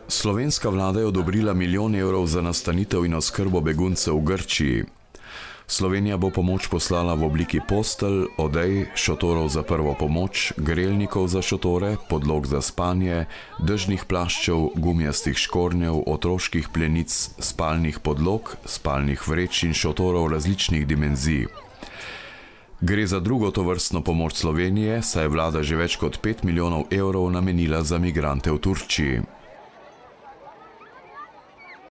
Slovenska vlada je odobrila milijon evrov za nastanitev in oskrbo beguncev v Grčiji. Slovenija bo pomoč poslala v obliki postelj, odej, šotorov za prvo pomoč, grelnikov za šotore, podlog za spanje, dežnih plaščev, gumijastih škornjev, otroških plenic, spalnih podlog, spalnih vreč in šotorov različnih dimenzij. Gre za drugo tovrstno pomoč Slovenije, saj je vlada že več kot 5 milijonov evrov namenila za migrante v Turčiji.